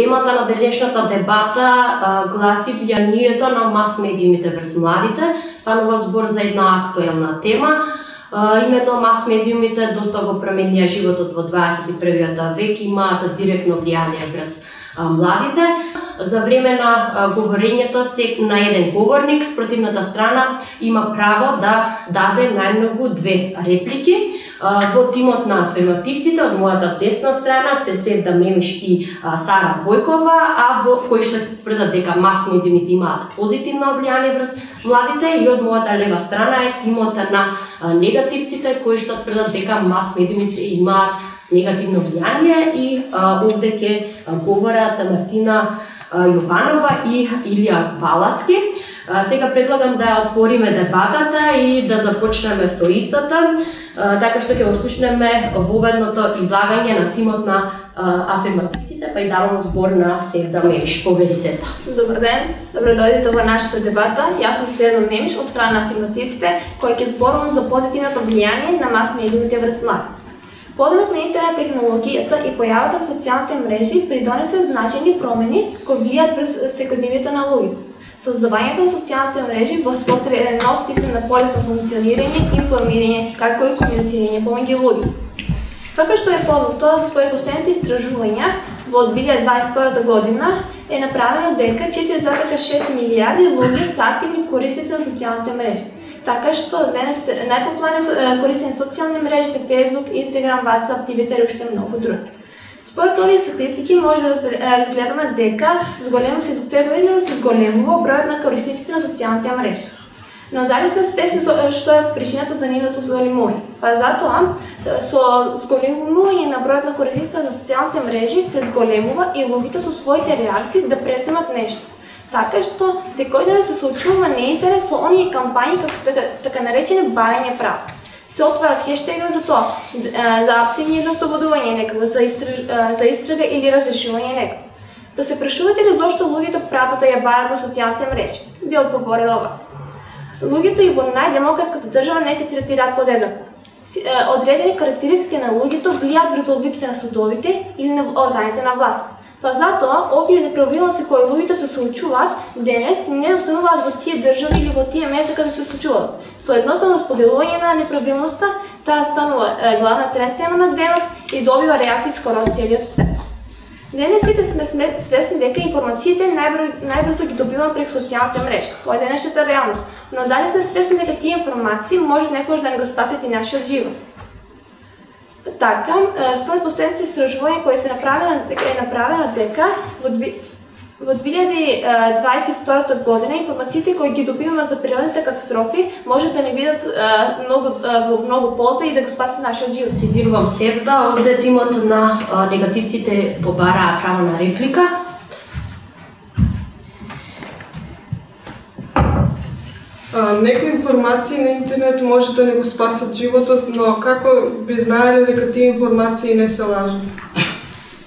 Темата на денешната дебата гласи влијанието на мас-медиумите врз младите. Станува збор за една актуелна тема. Именно мас-медиумите доста го променија животот во 21. век, имаат директно влијание врз младите. За време на говорењето на еден говорник, спротивната страна има право да даде најмногу 2 реплики. Во тимот на афирмативците од мојата десна страна се Севда Мемиш и Сара Бојкова, а во кои што тврдат дека мас-медиумите имаат позитивно влијание врз младите, и од мојата лева страна е тимот на негативците кои што тврдат дека мас-медиумите имаат негативно влијание, и овде ќе говорат Мартина Јованова и Илија Баласки. Сега предлагам да отвориме дебатата и да започнеме со истото, така што ќе го слушнеме воведното излагање на тимот на афирмативците, па и давам збор на Севда Мемиш. Повели Севда. Добар ден, добро дојдете во нашата дебата. Јас сум Севда Мемиш од страна на афирмативците, кој ќе зборувам за позитивното влијание на мас-медиумите врз млади. Подемот на интернет технологијата и појавата в социјалните мрежи придонесе значајни промени кои влијаат врз секојдневието на луѓето. Создавањето на социјалните мрежи воспостави еден нов систем на полесно функционирање, информирање, како и комуницирање помеѓу луѓе. Како што е познато, според последните истражувања, во 2022 година е направено дека 4,6 милијарди луѓе се активни корисници на социјалните мрежи. Така што денес најпопуларни корисени социјални мрежи се Facebook, Instagram, WhatsApp, Twitter и уште многу други. Според овие статистики може да разгледаме дека се зголемува бројот на корисниците на социјалните мрежи. Но дали сме свесни што е причината за нивното зголемување? Па затоа, со зголемување на бројот на корисниците на социјалните мрежи се зголемува и луѓето со своите реакции да преземат нешто. Така што секојдневно се соочуваме неинтерес со оние кампањи како така наречени барање право. Се отварат хештегови за тоа, за апсење или ослободување некого, за истрага или разрешување некого. Да се прашувате ли зошто луѓето пратат да ја барат на социјалните мрежи? Би одговорила ова. Луѓето и во најдемократската држава не се третираат подеднакво. Одредени карактеристики на луѓето влијаат врз одлуките на судовите или на органите на власт. Па затоа, овие неправилности кои луѓето се соочуваат денес не остануваат во тие држави или во тие места каде се случуваат. Со едноставно споделување на неправилноста, таа станува главна тренд тема на денот и добива реакции скоро од целиот свет. Денес сите сме свесни дека информациите најбрзо ги добиваме преку социјалните мрежи. Тоа е денешната реалност. Но дали сме свесни дека тие информации можат некогаш да не го спасат и нашиот живот? Така, според последните истражувања кои е направено дека во 2022 година информациите кои ги добиваме за природните катастрофи може да не бидат во многу полза и да го спасат нашиот живот. Се извинувам, Севда, овде тимот на негативците побараа право на реплика. Некои информации на интернет може да не го спасат животот, но како би знаеле дека тие информации не се лажни?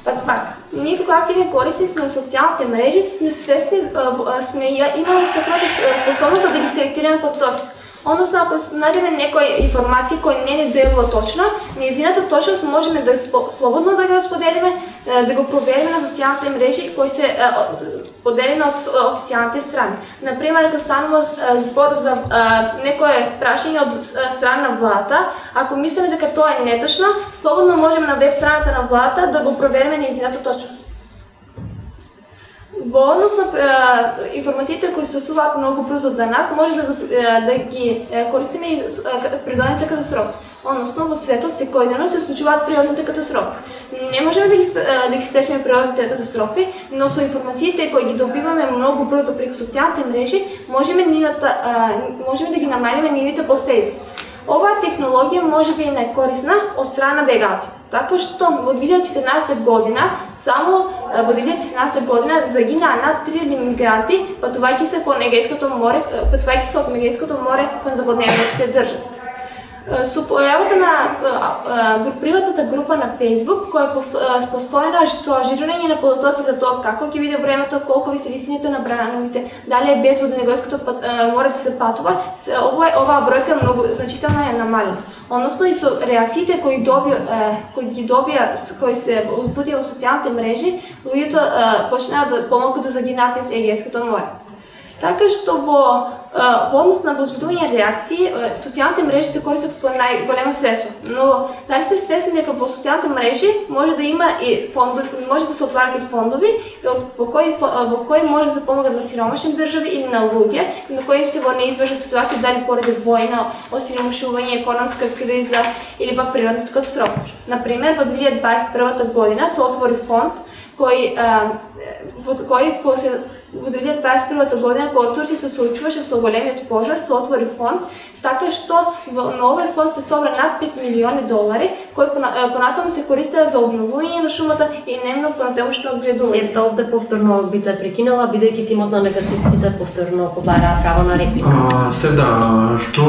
Па така, ние како активни корисници на социјалните мрежи сме свесни, имаме стапната способност да ги селектираме потоци. Односно, ако најдеме некои информации кои не ни делува точно, нејзината точност можеме да слободно да го споделиме, да го провериме на социјалните мрежи кои се поделени од официјалните страни. Например, ако станува збор за некое прашање од страна на владата, ако мислиме дека тоа е неточно, слободно можеме на веб страната на владата да го провериме нејзината точност. Во однос на информациите кои се случуваат многу брзо до нас, може да ги користиме и природните катастрофи. Односно, во светот секојдневно се случуваат природните катастрофи. Не можеме да ги спречиме природните катастрофи, но со информациите кои ги добиваме многу брзо преку социјалните мрежи, можеме да ги намалиме нивните последици. Оваа технологија може би е најкорисна од страна на бегалците, така што во 2014 година само во 2014 година загинаа над 3000 мигранти патувајќи се од Егејското море кон западноевропските држави. Со појавата на приватната група на Facebook, која е постојана со ажирирање на податоци за тоа како ќе биде времето, колку се висините на брановите, дали е безбедно него искато мора да се патува, оваа бројка многу значително е намалена. Односно и со реакциите кои се упутија во социјалните мрежи, луѓето почнаа да помалку да загинат со Егејското море. Така што во однос на возбудување реакции, социјалните мрежи се користат како најголемо средство. Но дали сме свесни дека во социјалните мрежи може да има и фондови, може да се отварат и фондови во кои може да се помогат на сиромашни држави или на луѓе на кои се во неизбежна ситуација, дали поради војна, осиромашување, економска криза или пак природна катастрофа. Например, во 2021 година се отвори фонд кој во 2021 година, кога Турција се соочуваше со големиот пожар, се отвори фонд, така што на овој фонд се собра над 5 милиони долари, кои понатаму се користеа за обновување на шумата и немно понатамошно одгледување. Сета овде повторно би те прекинала, бидејќи тимот на негативците повторно побара право на реплика. Севда, што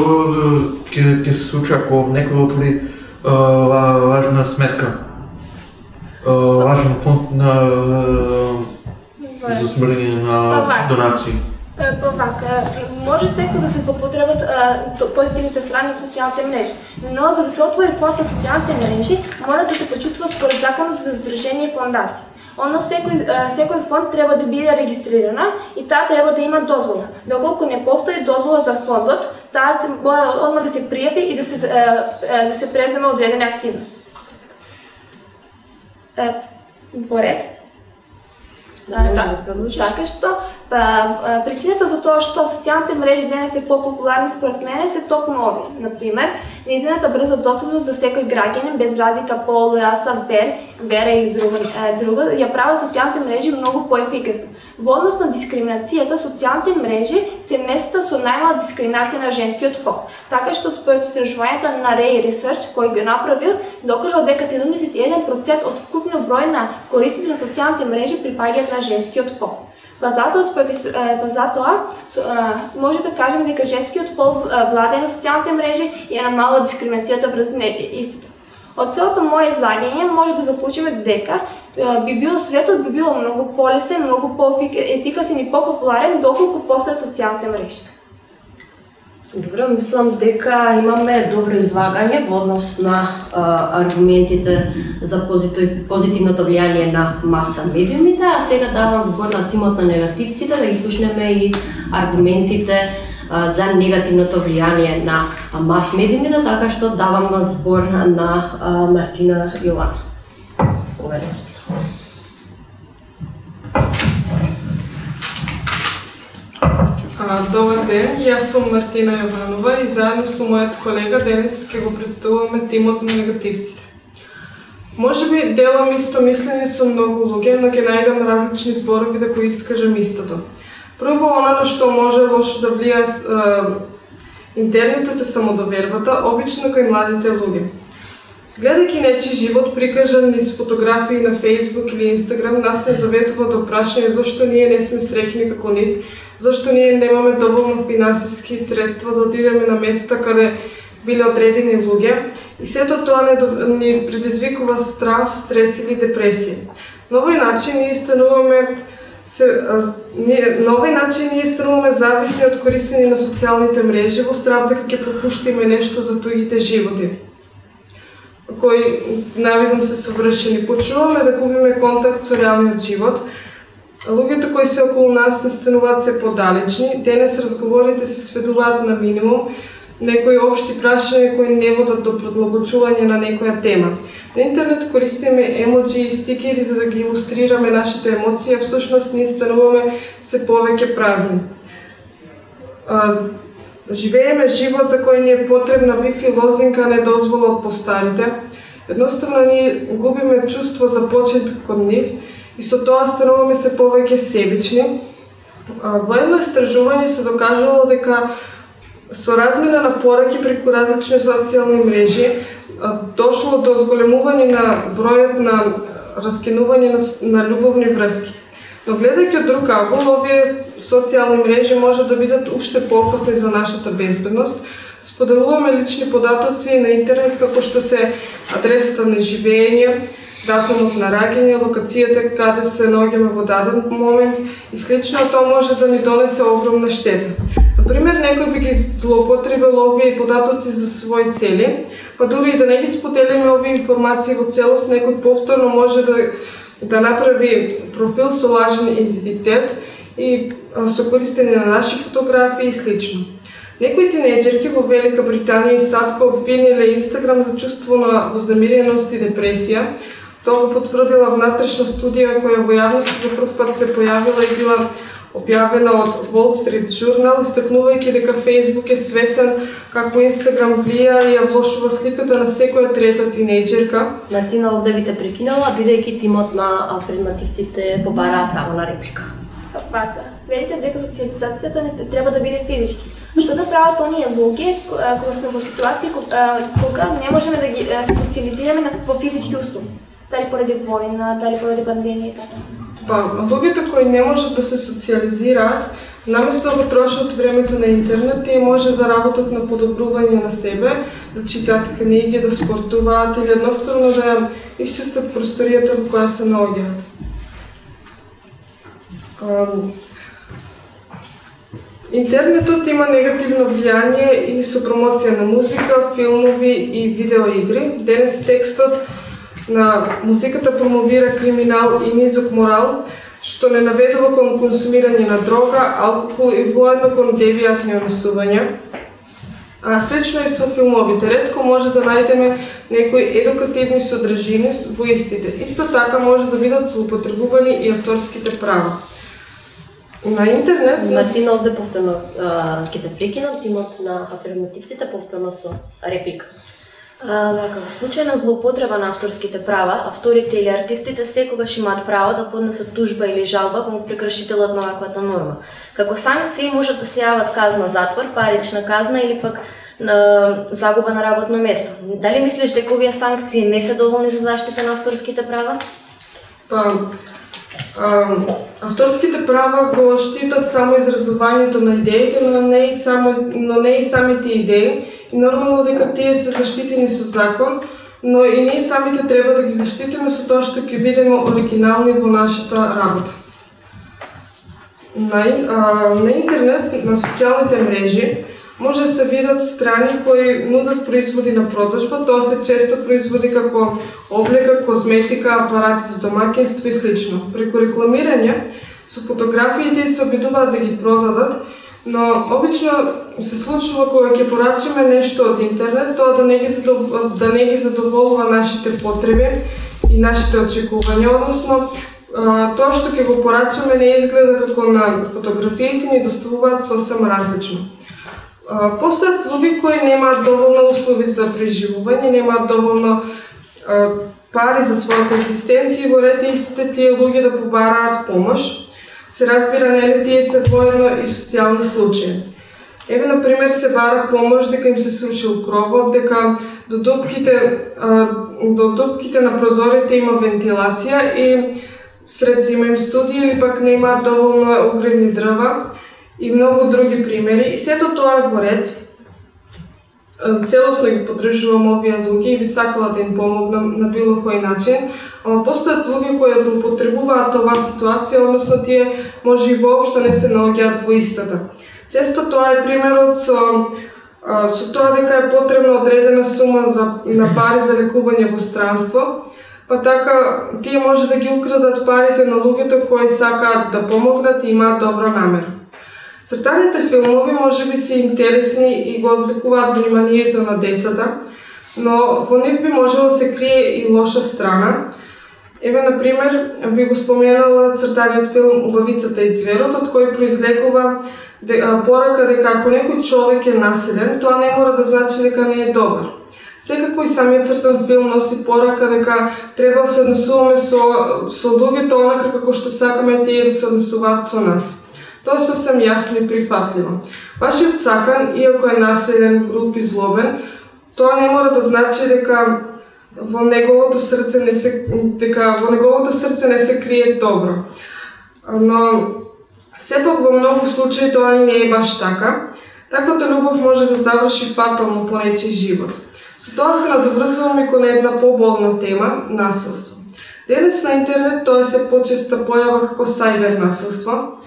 ќе се случи ако некој отвори важна сметка? Важен фонд за собирање на донации. Може секој да се злоупотребат позитивните страни на социјалните мрежи, но за да се отвори фонд на социјалните мрежи, мора да се почитува според законот за здружение и фондација. Секој фонд треба да биде регистрирана и таа треба да има дозвола. Доколку не постои дозвола за фондот, таа мора одма да се пријави и да се преземе одредени активности. Во ред. Така што причината за тоа што социјалните мрежи денес се популарни според мене се токму овие. Например, нејзината брза достапност до секој граѓанин без разлика пол, раса, вера или друго ја прави социјалните мрежи многу поефикасни. Во однос на дискриминацијата, социјалните мрежи се места со најмала дискриминација на женскиот пол. Така што според истражувањето на Ray Research, кој го направил, докажал дека 71% од вкупниот број на корисници на социјалните мрежи припаѓаат на женскиот пол. Па затоа може да кажем дека женскиот пол владее на социјалните мрежи и е намалува дискриминацијата врз истите. Од целото моје излагање може да заклучиме дека светот би било многу полесен, многу поефикасен и попопуларен доколку постојат социјалните мрежи. Добро, мислам дека имаме добро излагање во однос на аргументите за позитивното влијание на маса медиумите, а сега давам збор на тимот на негативците да изслушнеме и аргументите за негативното влијание на мас медиумите, така што давам збор на Мартина Јована. Добар ден, јас сум Мартина Јованова и заедно со мојот колега денес ќе го представуваме тимот на негативците. Може би делам исто мислење со многу луѓе, но ќе најдам различни зборови да го искажам истото. Прво, она на што може лошо да влијае интернетот е самодовербата, обично кај младите луѓе. Гледајќи нечи живот прикажан низ фотографии на Facebook или Instagram, нас не доведува до прашање зошто ние не сме среќни како нив, зошто ние немаме доволно финансиски средства да отидеме на места каде биле одредени луѓе и сето тоа ни предизвикува страв, стрес или депресија. На овој начин ние стануваме зависни од користење на социјалните мрежи во страв дека ќе пропуштиме нешто за туѓите животи, кои навидом се совршени. Почнуваме да губиме контакт со реалниот живот. Луѓето кои се околу нас не стануваат се подалечни. Денес разговорите се сведуваат на минимум, некои општи прашања кои не водат до продлабочување на некоја тема. На интернет користиме емоджи и стикери за да ги илустрираме нашите емоции, а всушност ние стануваме се повеќе празни. Живееме живот за кој ни е потребна Wi-Fi лозинка, не дозвола од постарите. Едноставно ние губиме чувство за почит кон нив и со тоа стануваме се повеќе себични. Во едно истражување се докажало дека со размена на пораки преку различни социјални мрежи дошло до зголемување на бројот на раскинување на љубовни врски. Но гледајќи од друг ангол, овие социјални мрежи може да бидат уште поопасни за нашата безбедност, споделуваме лични податоци на интернет како што се адресата на живење, датумот на раѓање, локацијата каде се наоѓаме во даден момент и слично, тоа може да ни донесе огромна штета. Например, некој би ги злоупотребил овие податоци за своји цели, па дури и да не ги споделиме овие информации во целост, некој повторно може да направи профил со лажен идентитет и со користење на наши фотографии и слично. Некои тинејџерки во Велика Британија и САД го обвиниле Инстаграм за чувство на вознемиреност и депресија. Тоа го потврдила внатрешна студија која во јавност за прв пат се појавила и била објавена од Wall Street Journal, истакнувајќи дека Facebook е свесен како Инстаграм влија и ја влошува сликата на секоја трета тинејџерка. Мартина, овде би те прекинала, бидејќи тимот на предметивците побараа право на реплика. Вака, велите дека социализацијата не треба да биде физички. Што да прават оние луѓе кога сме во ситуација кога не можеме да ги се социализираме во физички услови? Дали поради војна, дали поради пандемија и така? Па, луѓето кои не можат да се социализираат, наместо да го трошат времето на интернет, тие може да работат на подобрување на себе, да читаат книги, да спортуваат или едноставно да исчистат просторијата во која се наоѓаат. Интернетот има негативно влијание и со промоција на музика, филмови и видеоигри. Денес текстот на музиката промовира криминал и низок морал, што не наведува кон консумирање на дрога, алкохол и воедно кон девијатни онесувања. Слично и со филмовите. Ретко може да најдеме некои едукативни содржини во истите. Исто така може да бидат злоупотребувани и авторските права. На интернет... Мартина, овде повторно ќе те прекинам, тимот на афирмативците повторно со реплика. Во случај на злоупотреба на авторските права, авторите или артистите секогаш имаат право да поднесат тужба или жалба кон прекршителот на ваквата норма. Како санкции можат да се јават казна затвор, парична казна или пак загуба на работно место. Дали мислиш дека овие санкции не се доволни за заштита на авторските права? Авторските права го штитат само изразувањето на идеите, но не и самите идеи. И нормално дека тие се заштитени со закон, но и ние самите треба да ги заштитиме со тоа што ќе бидеме оригинални во нашата работа. На интернет, на социјалните мрежи, може да се видат страни кои нудат производи на продажба, тоа се често производи како облека, козметика, апарати за домаќинство и слично. Преку рекламирање, со фотографиите се обидуваат да ги продадат, но обично се случува кога ќе порачаме нешто од интернет, тоа да не ги задоволува нашите потреби и нашите очекувања, односно тоа што ќе го порачаме не изгледа како на фотографиите, ни доставуваат сосем различно. Постојат луѓе кои немаат доволно услови за преживување, немаат доволно пари за својата екзистенција и во ред истите тие луѓе да побараат помош. Се разбира, нели тие се воедно и социјални случаи. Еве, например, се бара помош дека им се срушил кровот, дека до дупките на прозорите има вентилација и сред зима им студи или пак не имаат доволно огревни дрва и многу други примери. И сето тоа е во ред. Целосно ги поддржувам овие луѓе и би сакала да им помогнам на било кој начин, ама постојат луѓе кои злоупотребуваат оваа ситуација, односно тие може и воопшто не се наоѓаат во истата. Често тоа е примерот со тоа дека е потребна одредена сума на пари за лекување во странство, па така тие може да ги украдат парите на луѓето кои сакаат да помогнат и имаат добра намера. Цртаните филмови може би се интересни и го одвлекуваат вниманието на децата, но во нив би можело се крие и лоша страна. Еве, например, би го споменала цртаниот филм Убавицата и ѕверот, од кој произлегува порака дека ако некој човек е насилен, тоа не мора да значи дека не е добар. Секако и самиот цртан филм носи порака дека треба да се однесуваме со луѓето онака како што сакаме тие да се однесуваат со нас. Тоа е сосем јасно и прифатливо. Вашиот сакан, иако е населен, груб и злобен, тоа не мора да значи дека во неговото срце не се крие добро. Но сепак во многу случаи тоа и не е баш така. Таквата љубов може да заврши фатално по нечи живот. Со тоа се надоврзуваме кон една поболна тема – насилство. Денес на интернет тоа се почеста појава како сајбер насилство.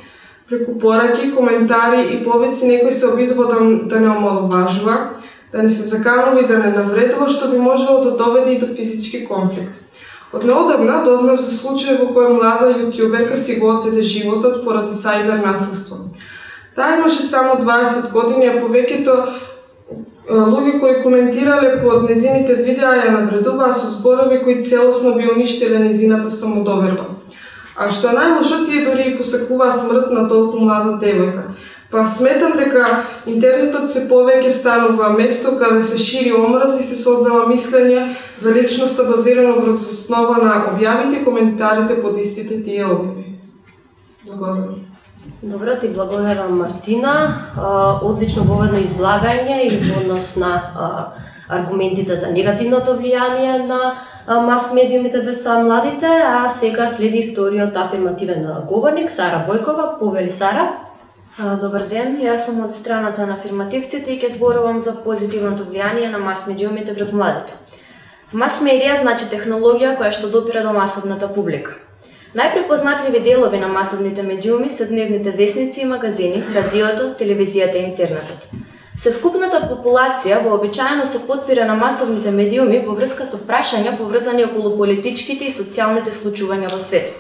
Преку пораки, коментари и повици некој се обидува да не омаловажува, да не се заканува и да не навредува, што би можело да доведе и до физички конфликт. Од неодамна дознав за случај во кој млада јутјуберка си го одзеде животот поради сајбер насилство. Таа имаше само 20 години, а повеќето луѓе кои коментирале под незините видеа ја навредуваа со зборови кои целосно би уништиле незината самодоверба. А што е најлошо, тие дори и посакуваа смрт на толку млада девојка. Па сметам дека интернетот се повеќе станува место каде се шири омраз и се создава мислење за личноста базирано врз основа на објавите и коментарите под истите тие објави. Благодарам. Добро, ти благодарам, Мартина. Одлично воведно излагање и во однос на аргументите за негативното влијание на мас-медиумите врз младите, а сега следи вториот афирмативен говорник, Сара Бојкова. Повели, Сара. Добар ден, јас сум од страната на афирмативците и ќе зборувам за позитивното влијание на мас-медиумите врз младите. Мас-медија значи технологија која што допира до масовната публика. Најпрепознатливи делови на масовните медиуми се дневните весници и магазини, радиото, телевизијата и интернетот. Севкупната популација вообичаено се потпира на масовните медиуми во врска со прашања поврзани околу политичките и социјалните случувања во светот.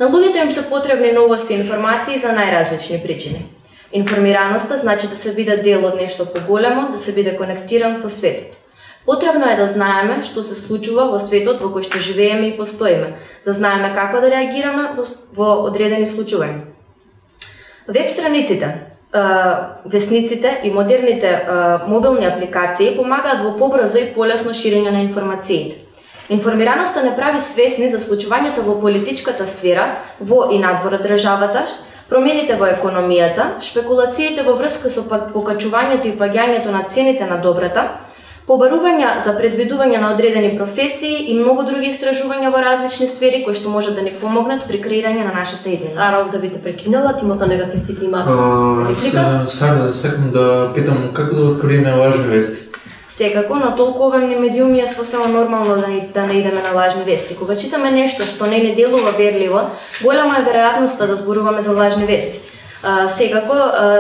На луѓето им се потребни новости и информации за најразлични причини. Информираноста значи да се биде дел од нешто поголемо, да се биде конектиран со светот. Потребно е да знаеме што се случува во светот во кој што живееме и постоиме, да знаеме како да реагираме во одредени случувања. Веб страниците, весниците и модерните мобилни апликации помагаат во побрзо и полесно ширење на информациите. Информираноста не прави свесни за случувањата во политичката сфера, во и надвор од државата, промените во економијата, шпекулациите во врска со покачувањето и паѓањето на цените на добрата, побарувања за предвидување на одредени професии и многу други истражувања во различни сфери кои што може да ни помогнат при креирање на нашата идеја. Сара, да би те прекинала, тимото негативците имаат реплика. Сара, сакам да питам како да откриеме лажни вести. Секако, на толку обемни медиуми е сосема нормално да не идеме на лажни вести. Кога читаме нешто што не ни делува верливо, голема е веројатноста да зборуваме за лажни вести. Секако,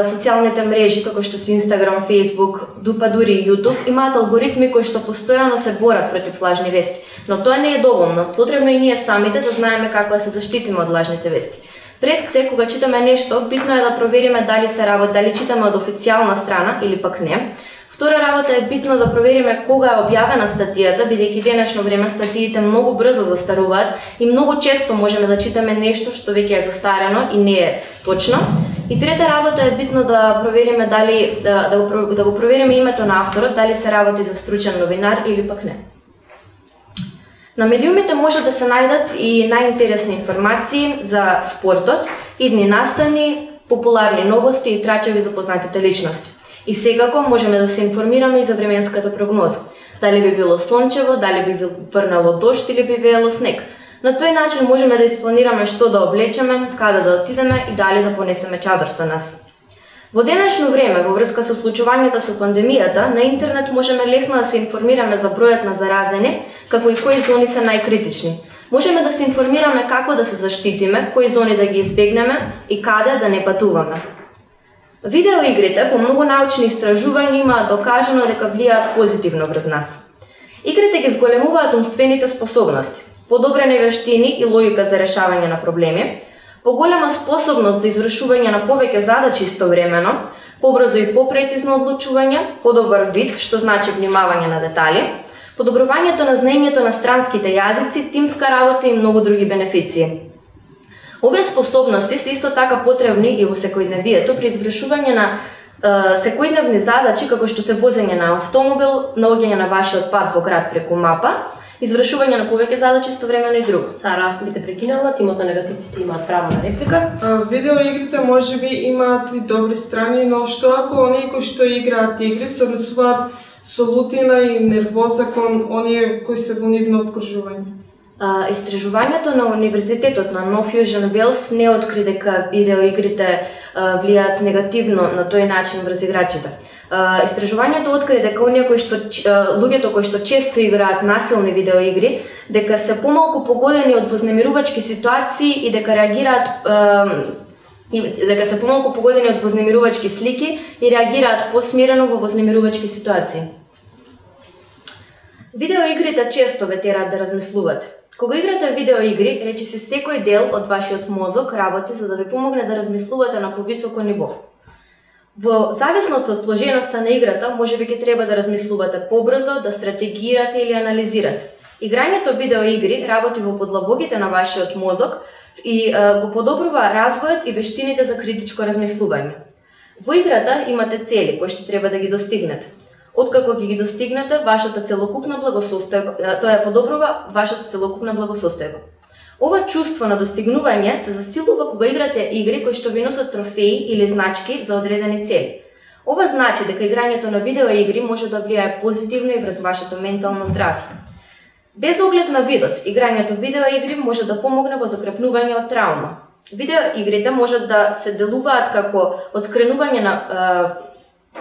социјалните мрежи, како што се Instagram, Facebook, дури и YouTube, имаат алгоритми кои што постојано се борат против лажни вести. Но тоа не е доволно. Потребно и ние самите да знаеме како да се заштитиме од лажните вести. Пред се, кога читаме нешто, битно е да провериме дали читаме од официјална страна или пак не. Втора работа е битно да провериме кога е објавена статијата, бидејќи денешно време статиите многу брзо застаруваат и многу често можеме да читаме нешто што веќе е застарено и не е точно. И трета работа е битно да провериме да го провериме името на авторот, дали се работи за стручен новинар или пак не. На медиумите може да се најдат и најинтересни информации за спортот, идни настани, популарни новости и трачави за познатите личности. И секако можеме да се информираме и за временската прогноза. Дали би било сончево, дали би врнало дожд или би веело снег. На тој начин можеме да испланираме што да облечеме, каде да отидеме и дали да понесеме чадор со нас. Во денешно време, во врска со случувањата со пандемијата, на интернет можеме лесно да се информираме за бројот на заразени, како и кои зони се најкритични. Можеме да се информираме како да се заштитиме, кои зони да ги избегнеме и каде да не патуваме. Видеоигрите по многу научни истражувања имаат докажано дека влијаат позитивно врз нас. Игрите ги зголемуваат умствените способности, подобрени вештини и логика за решавање на проблеми, поголема способност за извршување на повеќе задачи истовремено, побрзо и попрецизно одлучување, подобар вид, што значи внимавање на детали, подобрувањето на знаењето на странските јазици, тимска работа и многу други бенефиции. Овие способности се исто така потребни и во секојдневието при извршување на секојдневни задачи како што се возење на автомобил, наоѓање на вашиот пат во град преку мапа, извршување на повеќе задачи истовремено и друго. Сара, би те прекинала, тимот на негативците имаат право на реплика. Видеоигрите можеби имаат и добри страни, но што ако оние кои што играат игри се однесуваат со лутина и нервоза кон оние кои се во нивно обкружување? Истражувањето на Универзитетот на Нов Јужен Велс не откри дека видеоигрите влијаат негативно на тој начин врз играчите. Истражувањето откри дека луѓето кои што често играат насилни видеоигри, дека се помалку погодени од вознемирувачки ситуации и дека се помалку погодени од вознемирувачки слики и реагираат посмирено во вознемирувачки ситуации. Видеоигрите често ве тераат да размислувате. Кога играте видеоигри, речиси секој дел од вашиот мозок работи за да ви помогне да размислувате на повисоко ниво. Во зависност од сложеноста на играта, можеби ќе треба да размислувате побрзо, да стратегирате или анализирате. Играњето видеоигри работи во подлабоките на вашиот мозок и го подобрува развојот и вештините за критичко размислување. Во играта имате цели кои што треба да ги достигнете. Откако ги достигнете, вашата целокупна благосостојба, тоа ја подобрува вашата целокупна благосостојба. Ова чувство на достигнување се засилува кога играте игри кои што ви носат трофеи или значки за одредени цели. Ова значи дека играњето на видеоигри може да влијае позитивно и врз вашето ментално здравје. Без оглед на видот, играњето видеоигри може да помогне во закрепнување од траума. Видеоигрите можат да се делуваат како одскренување на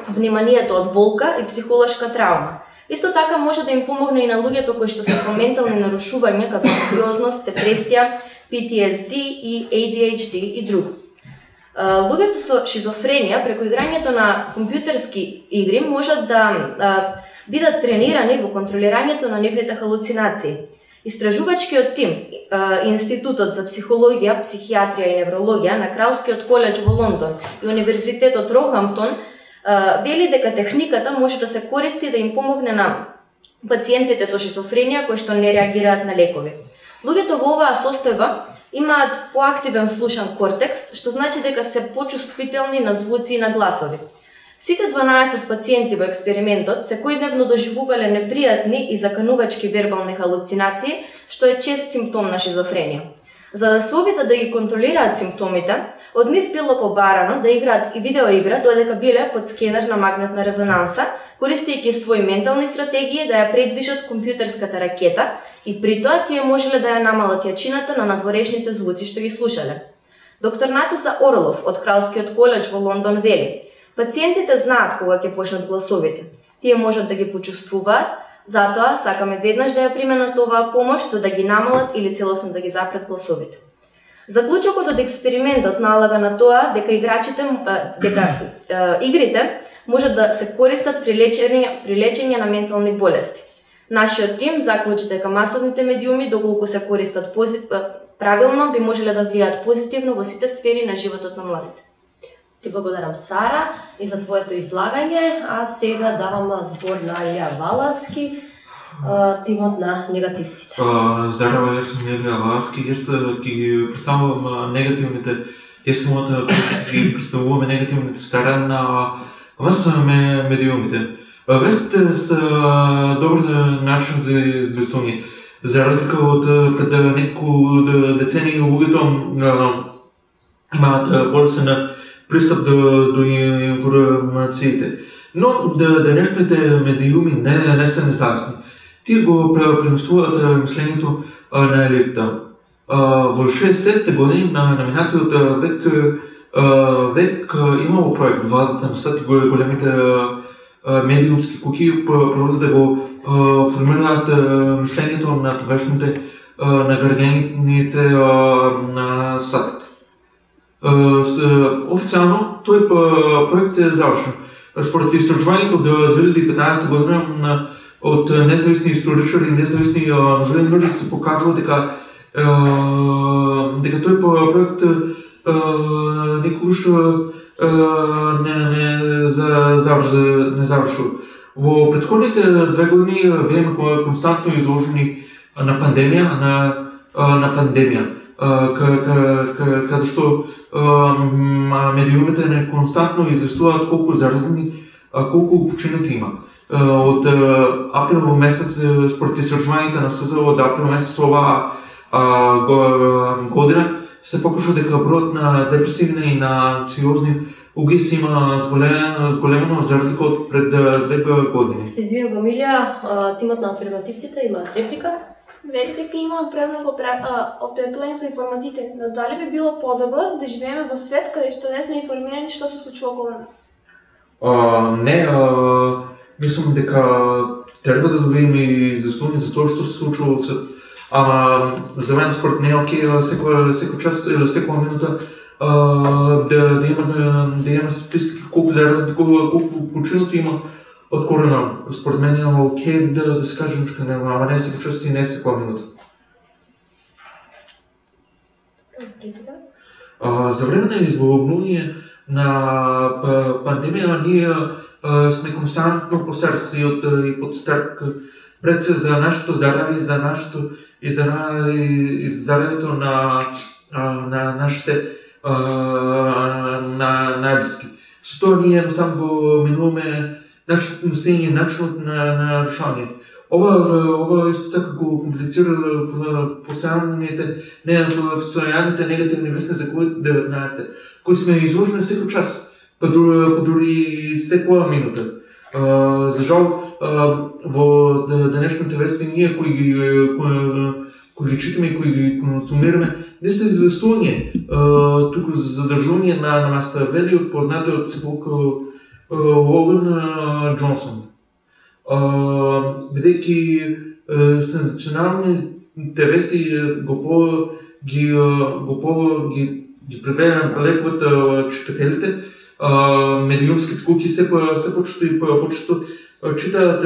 вниманието од болка и психолошка траума. Исто така може да им помогне и на луѓето кои што се со ментални нарушувања како анксиозност, депресија, PTSD и ADHD и друго. Луѓето со шизофренија преку играњето на компјутерски игри можат да бидат тренирани во контролирањето на нивните халуцинации. Истражувачкиот тим, Институтот за психологија, психијатрија и неврологија на Кралскиот коледж во Лондон и Универзитетот Рохамптон вели дека техниката може да се користи да им помогне на пациентите со шизофренија кои што не реагираат на лекови. Луѓето во оваа состојба имаат поактивен слушан кортекс, што значи дека се почувствителни на звуци и на гласови. Сите 12 пациенти во експериментот секојдневно доживувале непријатни и заканувачки вербални халуцинации, што е чест симптом на шизофренија. За да се обидат да ги контролираат симптомите, од нив било побарано да играат и видеоигра додека биле под скенер на магнетна резонанса, користејќи своји ментални стратегии да ја предвижат компјутерската ракета и при тоа тие можеле да ја намалат јачината на надворешните звуци што ги слушале. Доктор Натаса Орлов од Кралскиот коледж во Лондон вели: пациентите знаат кога ќе почнат гласовите. Тие можат да ги почувствуваат, затоа сакаме веднаш да ја применат оваа помош за да ги намалат или целосно да ги запрет гласовите. Заклучокот од експериментот налага на тоа дека игрите можат да се користат при лечење на ментални болести. Нашиот тим заклучи дека масовните медиуми, доколку се користат правилно, би можеле да влијаат позитивно во сите сфери на животот на младите. Ти благодарам, Сара, и за твоето излагање, а сега давам збор на Илија Валаски, тимот на негативците. Здраво, јас сум Илија Валаски, јас ќе ги представувам негативните, јас самата ќе представуваме негативните страни на медиумите. Вестите се добар начин за известување. За разлика од пред неколку децении луѓето имаат полесен пристап до информациите. Но денешните медиуми не се независни. Тие го премислуваат мислењето на елита. Во 60-те години на минатиот век имало проект владата на САД и големите медиумски куки продолжат да го формираат мислењето на тогашните на граѓаните на САД. Официјално тој проект е завршен. Според истражувањето од 2015 година од независни историчари и независни новинари се покажува дека тој проект никогаш не завршил. Во претходните 2 години беме константно изложени на пандемија, каде што медиумите не константно известуваат колку заразени, колку починати има. Од април месец, според истражувањата на СЗО, од април месец оваа година се покажа дека бројот на депресивни и на анксиозни угиси има зголемено за разлика од пред 2 години. Се извинувам, Илија, тимот на алтернативците има реплика? Велите дека има премногу опретување со информациите, но дали би било подобро да живееме во свет каде што не сме информирани што се случува околу нас? Не, мислам дека треба да добиеме заслуги за тоа што се случува во свет. Ама за мен според не е окей секој час или секоја минута да има статистики колку заразни, колку починати има од корона. Според мен е окей да се каже нешто, ама не секој час и не секоја минута. За време на избавување на пандемија ние сме константно постарци и подстарк пред се за нашето здравје, за нашето и здравјето на нашите најблиски. Со тоа ние едноставно го минуваме нашето мислење, начинот на решање. Ова исто така го комплицира постојаните негативни вести за COVID-19, кои сме изложени секој час, па дури секоја минута. За жал, во денешните вести ние кои ги читаме и кои ги консумираме, не се известување, туку задржување на места вели од познатиот сепак Логан Джонсон. Бидејќи сензационалните вести ги привлекуваат читателите, медиумските куки се почесто и почесто читаат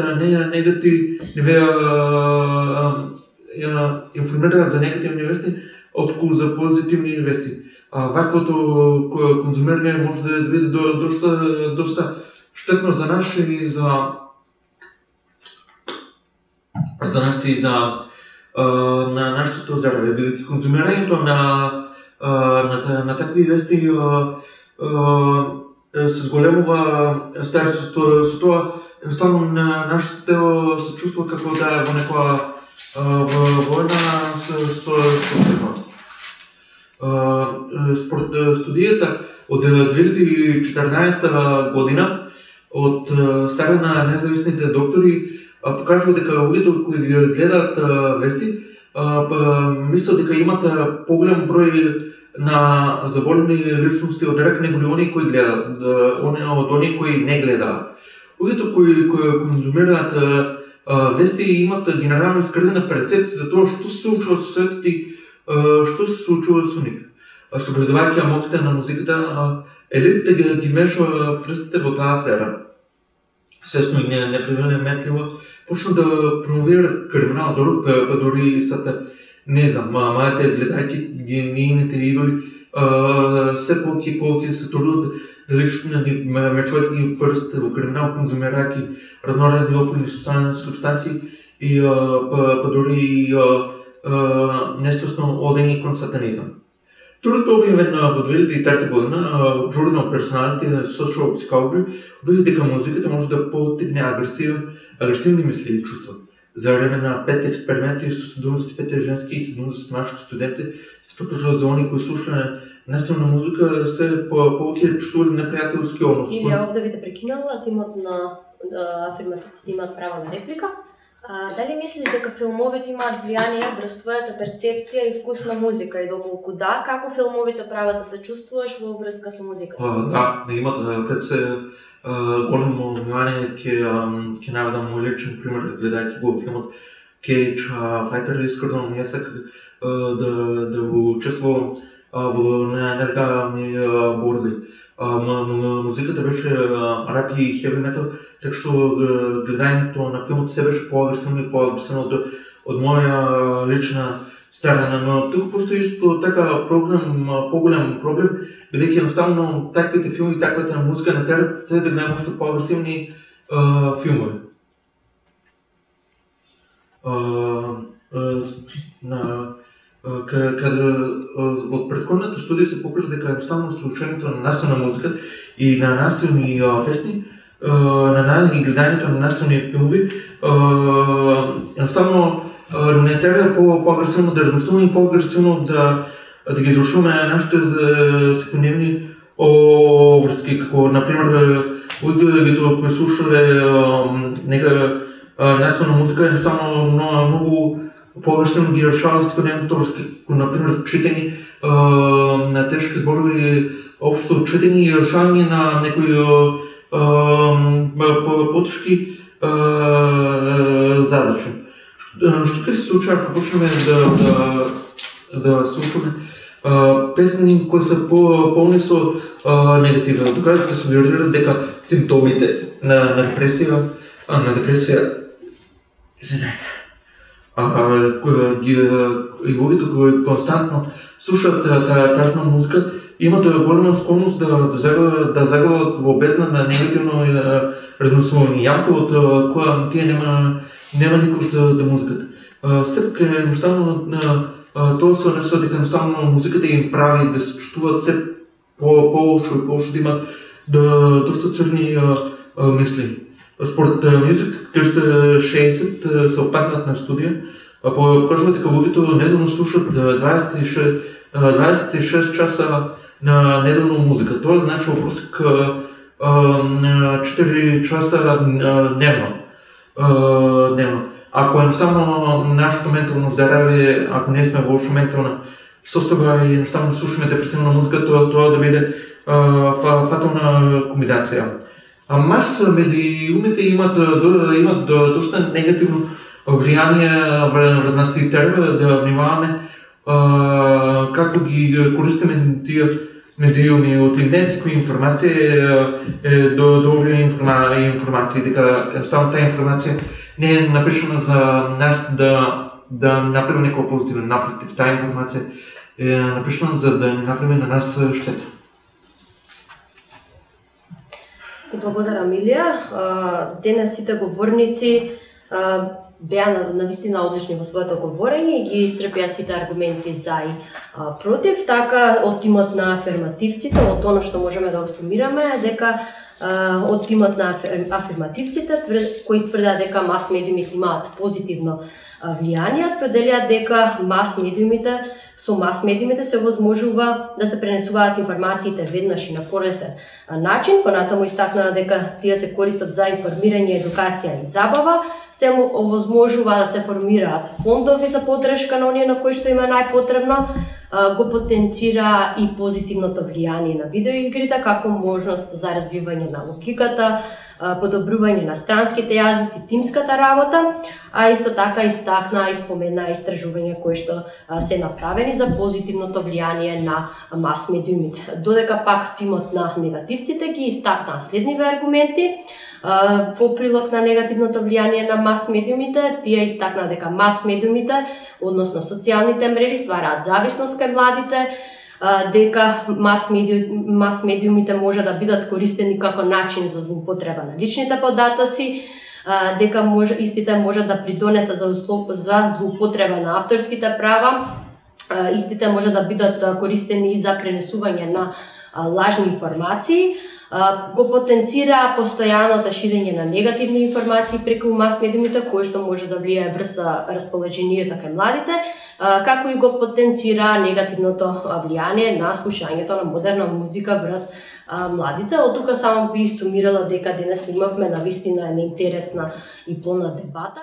информираат за негативни вести отколку за позитивни вести. Ваквото конзумирање може да биде доста штетно за нас и за нас и за нашето здравје, бидејќи конзумирањето на такви вести се зголемува старството, со тоа едноставно нашето тело се чувства како да е во некоја војна со стрема. Според студијата од 2014 година од страна на независните доктори покажува дека луѓето кои гледаат вести мислат дека имат поголем број на заболени личности од рак негови оние кои гледаат, од оние кои не гледаат. Луѓето кои конзумираат вести имат генерално искривена перцепција за тоа што се случува со светот и што се случува со нив. Согледувајќи моките на музиката, елитите ги мешува прстите во таа сфера. Свесно и непредметливо почна да промовира криминал, дори сата, не знам, мајате гледајќи нейните идоли, се повеќе и повеќе се трудат да мечуваат ги прстите во криминал, конзумирајќи разноразни опойни субстанции и дори несвесно одење кон сатанизам. Трудот објавен во 2003 година од журнал Personality and Social Psychology објави дека музиката може да поттикне агресивни мисли и чувства. За време на 5 експерименти со 75 женски и 70 мажки студенти се покажува за оние кои слушале насилна музика се повеќе чувствували непријателски односи. Или овде ви те прекинала, тимот на афирмативците имаат право на реплика. Дали мислиш дека филмовите имаат влијание врз твојата перцепција и вкус на музика и доколку да, како филмовите прават да се чувствуваш во врска со музиката? Да имат пред се големо внимание ќе наведам мој личен пример гледајќи го филмот Cage Fighter, искрено ми сак да учествувам во нелегални борби. Музиката беше рап и хеви метал, така што гледањето на филмот се беше поагресивно од моја лична страна, но туку постои исто така поголем проблем, бидејќи едноставно таквите филми, таквата музика не терат се да гледаме уште поагресивни филмови. Каде од претходната студија се покажа дека едноставно слушањето на насилна музика и на насилни песни, и гледањето на насилни филми, едноставно не треба по-агресивно да размислуваме и по-агресивно да ги изрушуваме нашите секојдневни обврски, како например луѓето кои слушале нека насилна музика, едноставно многу површено ги решаваме секојдневното врски, например читање на тешки зборови, општо читање и решавање на некои потешки задачи. Што ќе се случи ако почнеме да слушаме песни кои се полни со негативно. Доказите сугерираат дека симптомите на депресија, и луѓето кои константно слушаат тажна музика имат голема склонност да загават во бездна на негативно размислување. Јако од која тие нема никош да музиката. Сепак едноставно тоа се однесува дека едноставно музиката им прави да се чувствуваат се по-лошо и по-лошо, да имат доста црни мисли. Според Music 360 се опакнат на студија, покажува дека луѓето неделно слушат 26 часа на неделно музика. Тоа значи во просек 4 часа дневно. Ако едноставно нашето ментално здравје, ако не сме во лоша ментална состојба и едноставно слушаме депресивна музика, тоа да биде фатална комбинација. Мас медиумите имат доста негативно влијание врз нас и треба да внимаваме како ги користиме тие медиуми. Од некоја информација добра информација, дека едноставно таа информација не е напишана за нас да направи некоја позитивна, напротив, таа информација е напишана за да не направи на нас штета. Ти благодарам, Илија. Денес сите говорници беа навистина одлични во своето говорење и ги исцрпија сите аргументи за и против. Така, од тимот на афирмативците, од оно што можеме да го сумираме, дека од тимот на афирмативците, кои тврдат дека мас медиумите имаат позитивно влијание, споделиат дека со мас медиумите се возможува да се пренесуваат информациите веднаш и на полесен начин. Понатаму истакнаа дека тие се користат за информирање, едукација и забава, се овозможува да се формираат фондови за поддршка на оние на кои што им е најпотребно, го потенцира и позитивното влијание на видеоигрите како можност за развивање на логиката, подобрување на странските јазици, тимската работа, а исто така истакна и спомена истражувања кои што се направени за позитивното влијание на мас медиумите. Додека пак тимот на негативците ги истакнаа следниве аргументи во прилог на негативното влијание на мас медиумите. Тие истакнаа дека мас медиумите, односно социјалните мрежи, ствараат зависност кај младите, дека мас медиумите може да бидат користени како начин за злоупотреба на личните податоци, дека истите може да придонесат за злоупотреба на авторските права, истите може да бидат користени за пренесување на лажни информации, го потенцира постојаното ширење на негативни информации преку мас медиумите, кои што може да влијае врз расположението кај младите, како и го потенцира негативното влијание на слушањето на модерна музика врз младите. Од тука само би сумирала дека денес имавме навистина неинтересна и плодна дебата.